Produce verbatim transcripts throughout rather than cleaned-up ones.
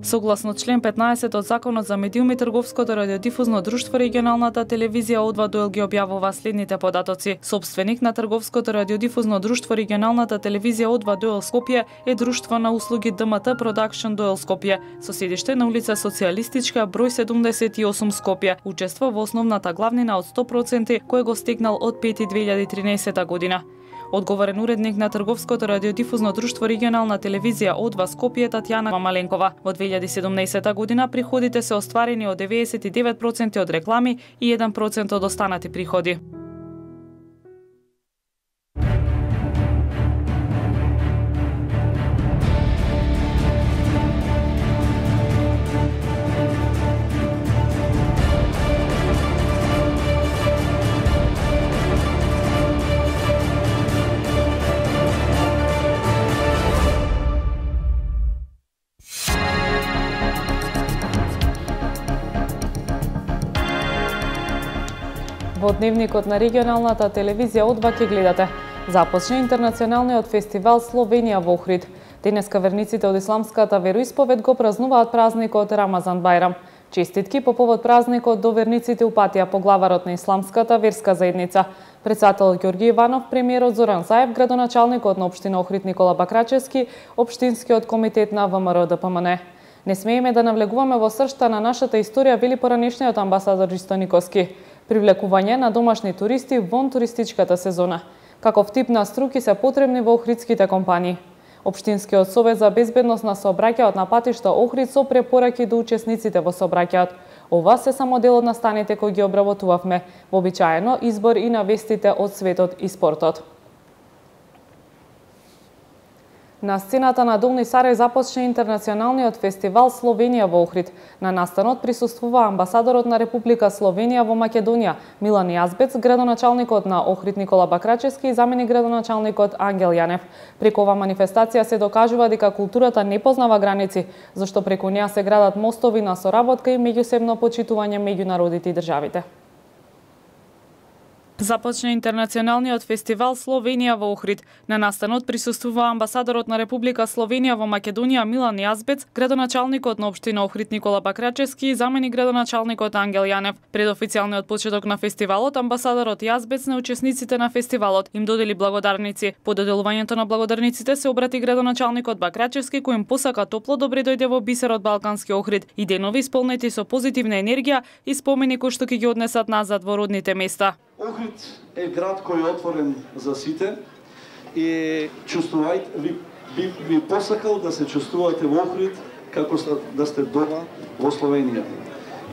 Согласно член петнаесет од Законот за медиуми, Трговското радиодифузно друштво регионалната телевизија О два Дуел ги објавува следните податоци. Собственик на Трговското радиодифузно друштво регионалната телевизија О два Дуел Скопје е друштво на услуги Д М Т Production Дуел Скопје, со седиште на улица Социјалистичка, број седумдесет и осум Скопје. Учества во основната главнина од сто проценти кој го стегнал од пети две илјади и тринаесета година. Одговорен уредник на Трговското радиодифузно друштво регионална телевизија О два Скопје Татјана Мамаленкова. Во две илјади и седумнаесета година приходите се остварени од деветдесет и девет проценти од реклами и еден процент од останати приходи. Во дневникот на регионалната телевизија О два ќе гледате. Започна интернационалниот фестивал Словенија во Охрид. Денеска верниците од исламската вероисповед го празнуваат празникот Рамазан Бајрам. Честитки по повод празникот до верниците упатија поглаварот на исламската верска заедница, председател Ѓорги Иванов, премиерот Зоран Заев, градоначалникот на општина Охрид Никола Бакрачевски, општинскиот комитет на В М Р Д П М Н. Не смееме да навлегуваме во сршта на нашата историја, вели поранешниот амбасадор Ристо Никоски. Привлекување на домашни туристи вон туристичката сезона. Каков тип на струки се потребни во охридските компании? Општинскиот совет за безбедност на сообраќајот на патишта Охрид со препораки до учесниците во сообраќајот. Ова се само дел од настаните кои ги обработувавме, вообичаено избор и на вестите од светот и спортот. На сцената на Долни Сарај започна интернационалниот фестивал Словенија во Охрид. На настанот присуствува амбасадорот на Република Словенија во Македонија Милан Јазбец, градоначалникот на Охрид Никола Бакрачевски и заменик градоначалникот Ангел Јанев. Преку ова манифестација се докажува дека културата не познава граници, зашто преку неа се градат мостови на соработка и меѓусебно почитување меѓу народите и државите. Започна интернационалниот фестивал Словенија во Охрид. На настанот присуствува амбасадорот на Република Словенија во Македонија Милан Јазбец, градоначалникот на општина Охрид Никола Бакрачевски и заменик градоначалникот Ангел Јанев. Пред официјалниот почеток на фестивалот, амбасадорот Јазбец на учесниците на фестивалот им додели благодарници. По доделувањето на благодарниците се обрати градоначалникот Бакрачевски, кој им посака топло добре дојде во бисерот Балкански Охрид и денови исполнети со позитивна енергија и спомени кои што ќе ги однесат назад во родните места. Охрид е град кој е отворен за сите и чувствувајте, ви, би, би посакал да се чувствувате во Охрид како да сте дома во Словенија.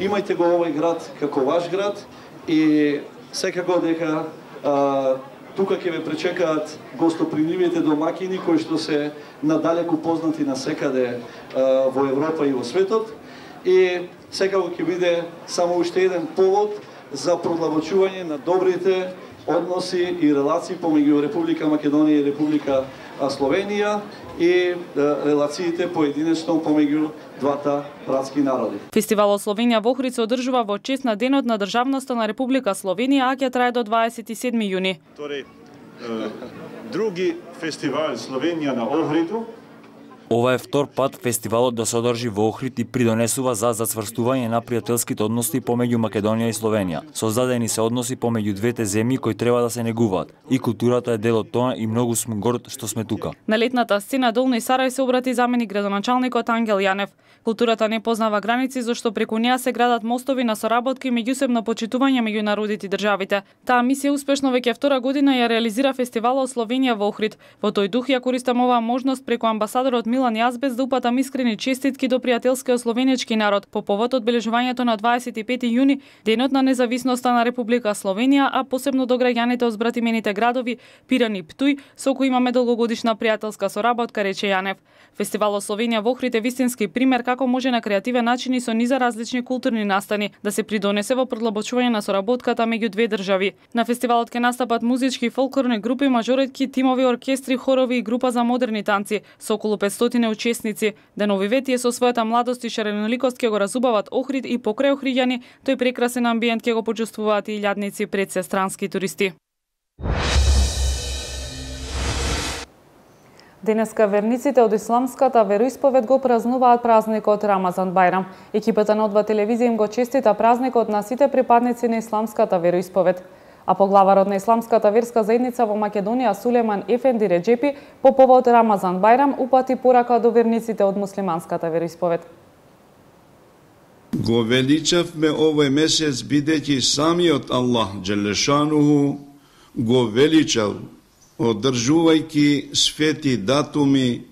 Имајте го овој град како ваш град и секако дека а, тука ќе ве пречекаат гостопримливите домакини кои што се надалеку познати насекаде а, во Европа и во светот и секако ќе биде само уште еден повод за продлабочување на добрите односи и релации помеѓу Република Македонија и Република Словенија и релациите поединечно помеѓу двата братски народи. Фестивалот Словенија во Охрид се одржува во чест на Денот на државноста на Република Словенија, а ќе трае до дваесет и седми јуни. Тоrej, други фестивал Словенија на Охриду. Ова е втор пат фестивалот да се одржи во Охрид и придонесува за зацврстување на пријателските односи помеѓу Македонија и Словенија. Создадени се односи помеѓу двете земји кои треба да се негуваат. И културата е дел од тоа и многу сме горд што сме тука. На летната сцена Долни Сарај се обрати заменик градоначалникот Ангел Јанев. Културата не познава граници, зашто преку неа се градат мостови на соработки и меѓусебно почитување меѓу народите и државите. Таа мисија успешно веќе втора година ја реализира фестивалот Словенија во Охрид. Во тој дух ја користам оваа можност преку амбасадорот Милан Јазбец да упатам искрени честитки до пријателскиот словенечки народ по повод одбележувањето на дваесет и пети јуни, денот на независноста на Република Словенија, а посебно до граѓаните од збратимените градови Пиран и Птуј, со кои имаме долгогодишна пријателска соработка, рече Јанев. Фестивалот Словенија во Охрид е вистински пример како може на креативен начин и со низа различни културни настани да се придонесе во продлабочување на соработката меѓу две држави. На фестивалот ќе настапат музички и фолклорни групи, мажоретки, тимови, оркестри, хорови и група за модерни танци со околу петстотини учесници. Денови ветие со својата младост и шареноликост ќе го разубават Охрид и покрај охриѓани, тој прекрасен амбиент ќе го почувствуваат и илјадници пред странски туристи. Денеска верниците од исламската вероисповед го празнуваат празникот Рамазан Бајрам. Екипата на О два телевизија им го честита празникот на сите припадници на исламската вероисповед. А поглаварот на исламската верска заедница во Македонија Сулеман Ефенди Реджепи по повод Рамазан Бајрам упати порака до верниците од муслиманската вероисповед. Го величавме овој месец бидејќи самиот Аллах Джелешануху го величал, одржувајќи свети датуми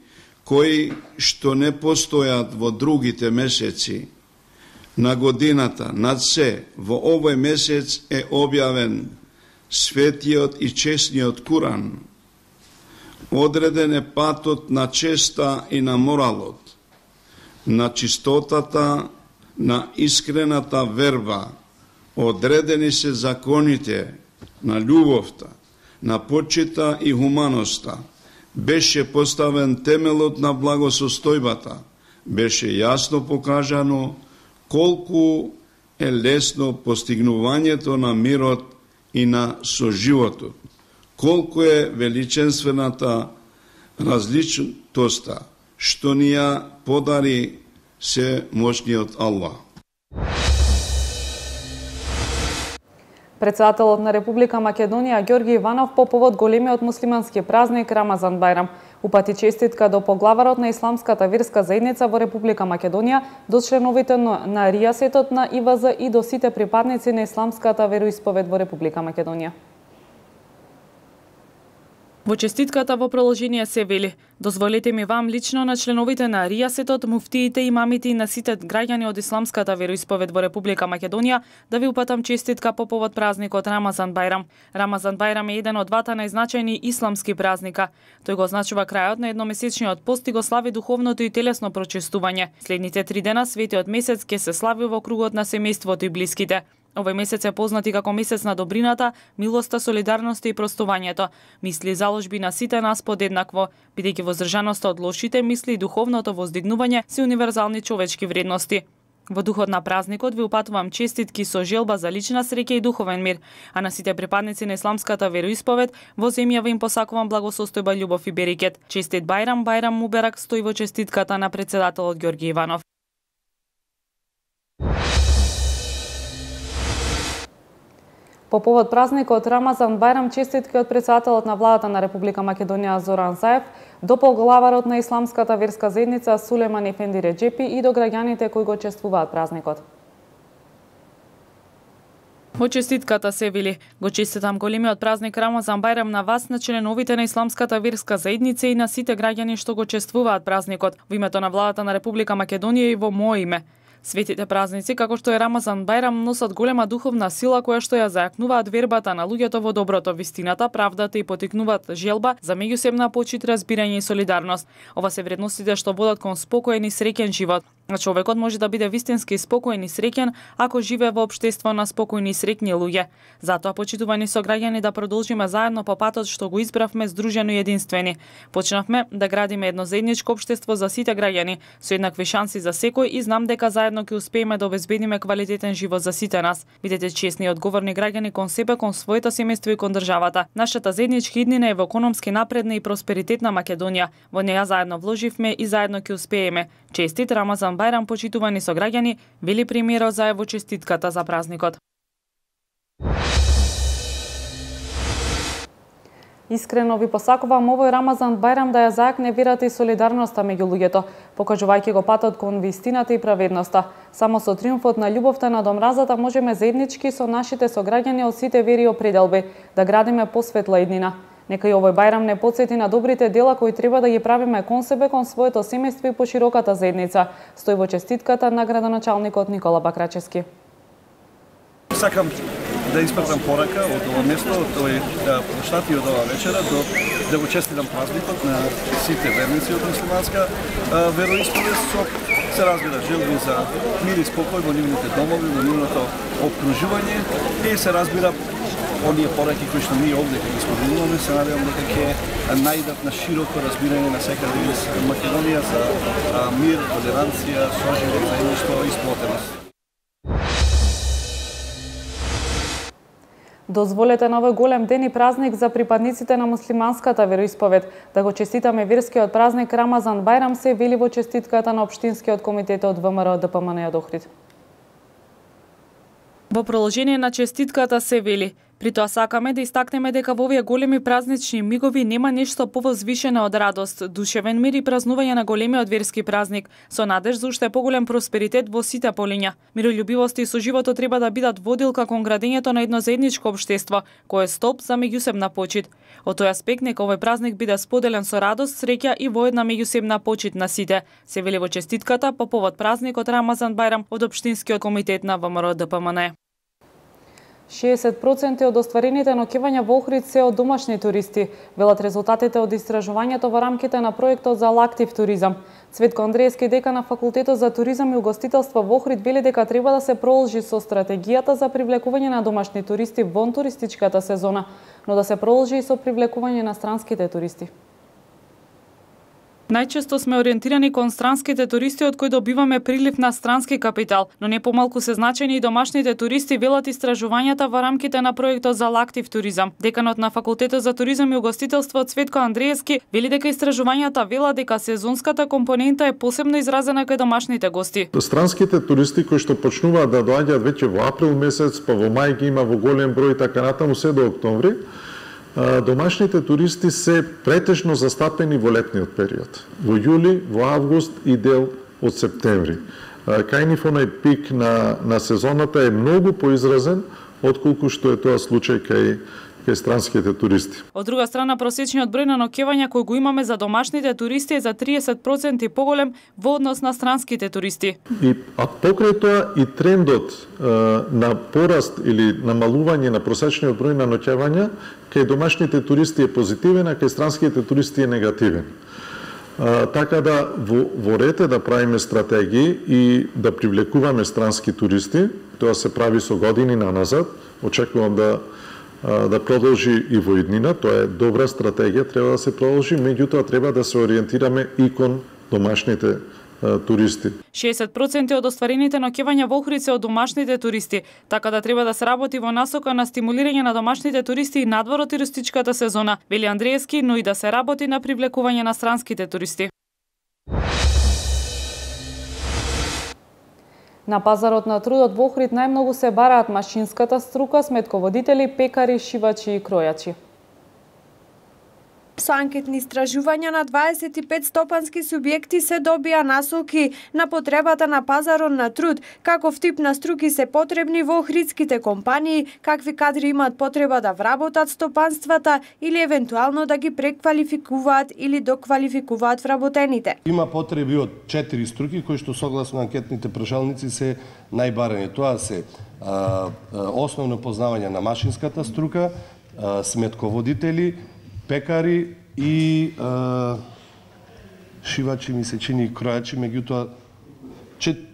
кои што не постојат во другите месеци на годината. Над се, во овој месец е објавен светиот и честниот Куран. Одреден е патот на честа и на моралот, на чистотата, на искрената верба. Одредени се законите на љубовта, на почита и хуманоста. Беше поставен темелот на благосостојбата. Беше јасно покажано колку е лесно постигнувањето на мирот и на соживотот. Колку е величенствената различноста што ни ја подари се мощниот Аллах. Председателот на Република Македонија Ѓорги Иванов по повод големиот муслимански празник Рамазан Бајрам упати честитка до поглаварот на исламската верска заедница во Република Македонија, до членовите на Ријасетот на И В З и до сите припадници на исламската вероисповед во Република Македонија. Во честитката во продолжение се вели: дозволете ми вам лично на членовите на Ријасетот, муфтиите, имамите и на сите граѓани од исламската вероисповед во Република Македонија да ви упатам честитка по повод празникот Рамазан Бајрам. Рамазан Бајрам е еден од двата најзначајни исламски празника. Тој го означува крајот на едномесечниот пост и го слави духовното и телесно прочистување. Следните три дена светиот месец ќе се слави во кругот на семејството и блиските. Овој месец е познат и како месец на добрината, милоста, солидарноста и простувањето. Мисли и заложби на сите нас подеднакво, бидејќи воздржаноста од лошите мисли и духовното воздигнување се универзални човечки вредности. Во духот на празникот ви упатувам честитки со желба за лична среќа и духовен мир, а на сите припадници на исламската вероисповед во земјава им посакувам благосостојба, љубов и берекет. Честит Бајрам, Бајрам Муберак стои во честитката на председателот Ѓорги Иванов. По повод празникот Рамазан Бајрам честитки од председателот на владата на Република Македонија Зоран Заев, до поглаварот на исламската верска заедница Сулеман Ефенди Реджепи и до граѓаните кои го чествуваат празникот. Во честитката се вели: го честитам големиот празник Рамазан Бајрам на вас, на членовите на исламската верска заедница и на сите граѓани што го чествуваат празникот, во името на владата на Република Македонија и во мое име. Светите празници, како што е Рамазан Бајрам, носат голема духовна сила која што ја зајакнуваат вербата на луѓето во доброто, вистината, правдата и потикнуваат желба за меѓусебна почит, разбирање и солидарност. Ова се вредностите што водат кон спокоен и среќен живот. Човекот може да биде вистински спокоен и среќен ако живее во општество на спокојни и среќни луѓе. Затоа, почитувани сограѓани, да продолжиме заедно по патот што го избравме здружено и единствени. Почнавме да градиме едно заедничко општество за сите граѓани, со еднакви шанси за секој и знам дека заедно ќе успееме да обезбедиме квалитетен живот за сите нас. Бидете честни и одговорни граѓани кон себе, кон своето семејство и кон државата. Нашата заедничка иднина е во економски напредна и просперитетна Македонија. Во неја заедно вложивме и заедно ќе успееме. Честит Рамазан Бајрам, почитувани сограѓани, вели премиерот Заев во честитката за празникот. Искрено ви посакувам овој Рамазан Бајрам да ја зајакне верата и солидарноста меѓу луѓето, покажувајќи го патот кон вистината и праведноста. Само со триумфот на љубовта над омразата можеме заеднички со нашите сограѓани од сите вери и определби да градиме посветла иднина. Нека и овој Бајрам не потсети на добрите дела кои треба да ги правиме кон себе, кон своето семејство и по широката заедница. Стои во честитката на градоначалникот Никола Бакрачевски. Сакам да испратам порака од ова место, од овој площад и од ова вечера, до да го честитам празникот на сите верници од муслиманска вероисповед, со се разбира желби за мир и спокој во нивните домови, во нивното опкружување и се разбира оние пораки кои што ние овде ги споделуваме, се надевам дека ќе најдат на широко разбирање на секаде из Македонија за мир, толеранција, соживот, заедништво и сплотеност. Дозволете на овој голем ден и празник за припадниците на муслиманската вероисповед да го честитаме верскиот празник Рамазан Бајрам, се вели во честитката на Општинскиот комитет од ВМРО Д П М Н од Охрид. Во продолжение на честитката се вели: при тоа сакаме да истакнеме дека во овие големи празнични мигови нема нешто повозвишено од радост, душевен мир и празнување на големиот верски празник, со надеж за уште поголем просперитет во сите полиња. Миролюбивост и соживото треба да бидат водилка кон градењето на едно заедничко општество, кој е столб за меѓусебна почит. Од тој аспект нека овој празник биде споделен со радост, среќа и во една меѓусебна почит на сите, се вели во честитката по повод празникот Рамазан Бајрам од Општинскиот комитет на ВМРО Д П М Н. шеесет проценти од остварените ноќевања во Охрид се од домашни туристи, велат резултатите од истражувањето во рамките на проектот за лактив туризам. Цветко Андреевски, декан на Факултетот за туризам и угостителство во Охрид, вели дека треба да се продолжи со стратегијата за привлекување на домашни туристи вон туристичката сезона, но да се продолжи и со привлекување на странските туристи. Најчесто сме ориентирани кон странските туристи од кои добиваме прилив на странски капитал, но не помалку се значени и домашните туристи, велат истражувањата во рамките на проектот за лактив туризам. Деканот на Факултетот за туризам и угостителство Цветко Андреевски вели дека истражувањата велат дека сезонската компонента е посебно изразена кај домашните гости. Странските туристи кои што почнуваат да доаѓаат веќе во април месец, па во мај ги има во голем број така натаму се до октомври. Домашните туристи се претежно застапени во летниот период. Во јули, во август и дел од септември. Кај нив онај пик на, на сезоната е многу поизразен отколку што е тоа случај кај кај странските туристи. Од друга страна, просечниот број на ноќевања кој го имаме за домашните туристи е за триесет проценти поголем во однос на странските туристи. И а покрај тоа и трендот е, на пораст или намалување на просечниот број на ноќевања кај домашните туристи е позитивен, а кај странските туристи е негативен. А, така да во, во ред е да правиме стратегии и да привлекуваме странски туристи. Тоа се прави со години наназад. Очекувам да да продолжи и во иднина, тоа е добра стратегија, треба да се продолжи, меѓутоа треба да се ориентираме и кон домашните а, туристи. шеесет проценти од остварените ноќевања во Охрид се од домашните туристи, така да треба да се работи во насока на стимулирање на домашните туристи и надвор од туристичката сезона, вели Андреевски, но и да се работи на привлекување на странските туристи. На пазарот на трудот во Охрид најмногу се бараат машинската струка, сметководители, пекари, шивачи и кројачи. Со анкетни истражувања на дваесет и пет стопански субјекти се добија насоки на потребата на пазарот на труд, каков тип на струки се потребни во охридските компании, какви кадри имаат потреба да вработат стопанствата или евентуално да ги преквалификуваат или доквалификуваат вработените. Има потреби од четири струки кои што согласно анкетните прашалници се најбарани. Тоа се а, основно познавање на машинската струка, а, сметководители, пекари и а, шивачи, ми се чини, и кројачи, меѓутоа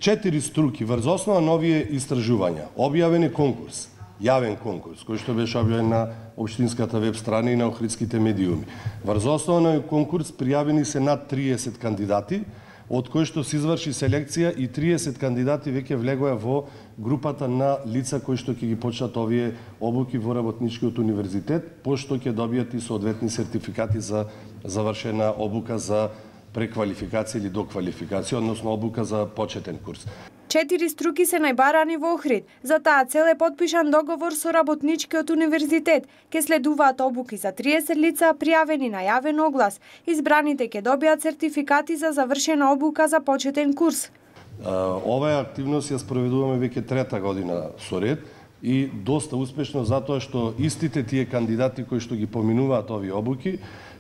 четири струки врз основа на овие истражувања. Објавен е конкурс, јавен конкурс, кој што беше објавен на општинската веб страна и на охридските медиуми. Врз основа на конкурс пријавени се над триесет кандидати, од кои што се изврши селекција и триесет кандидати веќе влегоа во групата на лица кои што ќе ги почнат овие обуки во Работничкиот универзитет, пошто ќе добијат и соодветни сертификати за завршена обука за преквалификација или доквалификација, односно обука за почетен курс. Четири струки се најбарани во Охрид. За таа цел е подпишан договор со Работничкиот универзитет. Ке следуваат обуки за триесет лица пријавени на јавен оглас. Избраните ќе добијат сертификати за завршена обука за почетен курс. Оваа активност ја спроведуваме веќе трета година со ред и доста успешно затоа што истите тие кандидати кои што ги поминуваат овие обуки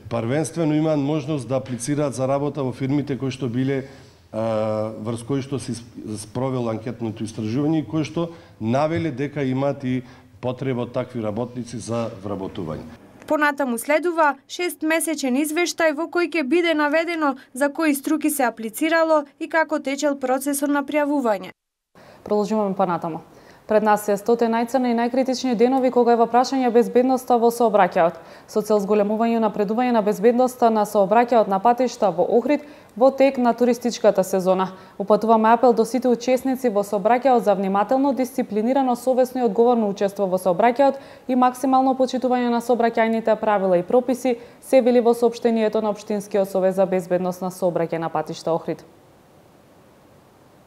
првенствено имаат можност да аплицираат за работа во фирмите кои што биле врз кои што се спровело анкетното истражување и кои што навеле дека имаат и потреба од такви работници за вработување. Понатаму следува шестмесечен извештај во кој ќе биде наведено за кои струки се аплицирало и како течел процесот на пријавување. Продолжуваме понатаму. Пред нас се стоте најцрни и најкритични денови кога е во прашање безбедноста во сообраќајот. Со цел зголемување и напредување на безбедноста на сообраќајот на патишта во Охрид во тек на туристичката сезона. Упатуваме апел до сите учесници во сообраќајот за внимателно, дисциплинирано, совесно и одговорно учество во сообраќајот и максимално почитување на сообраќајните правила и прописи, се вели во соопштението на Општинскиот совет за безбедност на сообраќај на патишта Охрид.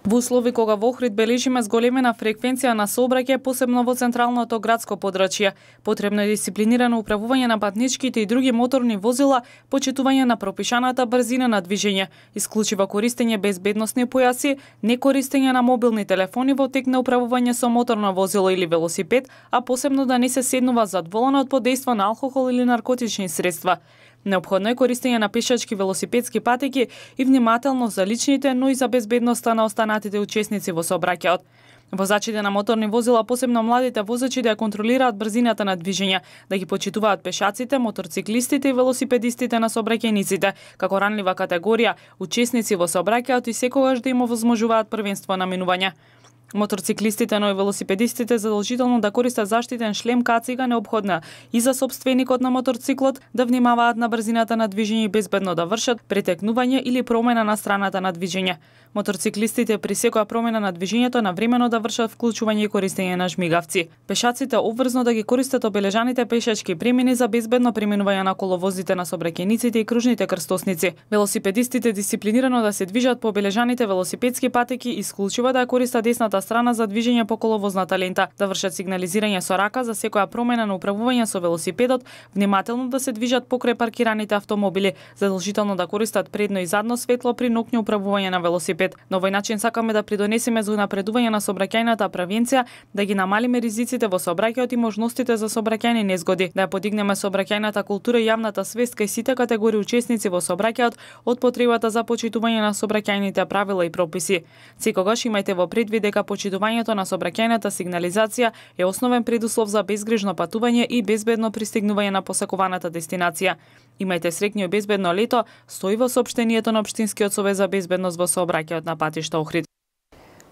Во услови кога во Охрид бележиме зголемена фреквенција на сообраќај, посебно во централното градско подрачје, потребно е дисциплинирано управување на патничките и други моторни возила, почитување на пропишаната брзина на движење, исклучиво користење безбедносни појаси, не користење на мобилни телефони во тек на управување со моторно возило или велосипед, а посебно да не се седнува зад воланот под дејство на алкохол или наркотични средства. Неопходно е користење на пешачки велосипедски патеки и внимателно за личните, но и за безбедноста на останатите учесници во сообраќајот. Возачите на моторни возила, посебно младите возачи, да ја контролираат брзината на движење, да ги почитуваат пешаците, моторциклистите и велосипедистите на сообраќајниците, како ранлива категорија, учесници во сообраќајот и секогаш да им овозможуваат првенство на минување. Моторциклистите, но и велосипедистите задолжително да користат заштитен шлем, кацига неопходна и за собственикот на моторциклот, да внимаваат на брзината на движење и безбедно да вршат претекнување или промена на страната на движење. Моторциклистите при секоја промена на движењето навремено да вршат вклучување и користење на жмигавци. Пешаците обврзно да ги користат обележаните пешачки премини за безбедно преминување на коловозите на сообраќајниците и кружните крстосници. Велосипедистите дисциплинирано да се движат по обележаните велосипедски патеки и исклучиво да ја користат десната страна за движење по коловозната лента, да вршат сигнализирање со рака за секоја промена на управување со велосипедот, внимателно да се движат покрај паркираните автомобили, задолжително да користат предно и задно светло при ноќно управување на велосипед. На овој начин сакаме да придонесеме за напредување на сообраќајната превенција, да ги намалиме ризиците во сообраќајот и можностите за сообраќајни незгоди, да ја подигнеме сообраќајната култура и јавната свест кај сите категории учесници во сообраќајот од потребата за почитување на сообраќајните правила и прописи. Секогаш имајте во предвид дека почитувањето на сообраќајната сигнализација е основен предуслов за безгрижно патување и безбедно пристигнување на посакуваната дестинација. Имајте среќно и безбедно лето, стои во соопштението на Општинскиот совет за безбедност во сообраќајот на патишта Охрид.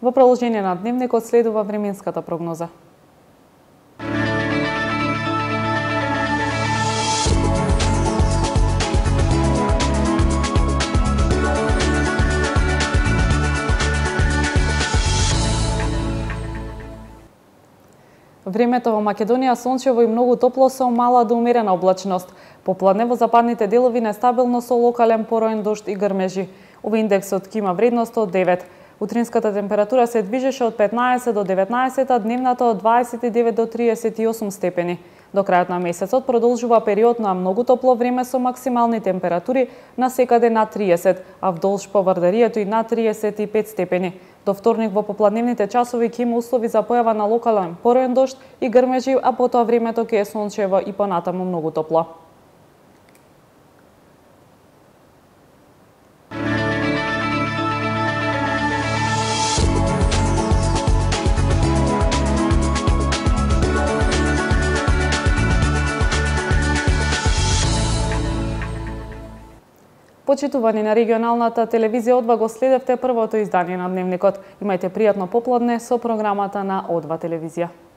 Во продолжение на дневникот следува временската прогноза. Времето во Македонија сончево и многу топло со мала до умерена облачност. Попладне во западните делови нестабилно со локален пороен дожд и грмежи. Овој индексот ќе има вредност од девет. Утринската температура се движеше од петнаесет до деветнаесет, а дневната од дваесет и девет до триесет и осум степени. До крајот на месецот продолжува период на многу топло време со максимални температури на секаде над триесет, а вдолж по Вардарието и над триесет и пет степени. До вторник во попладневните часови ќе има услови за појава на локален пороен дожд и грмежи, а потоа времето ќе е сончево и понатаму многу топло. Почитувани на регионалната телевизија О два, го следевте првото издание на дневникот. Имајте пријатно попладне со програмата на О два телевизија.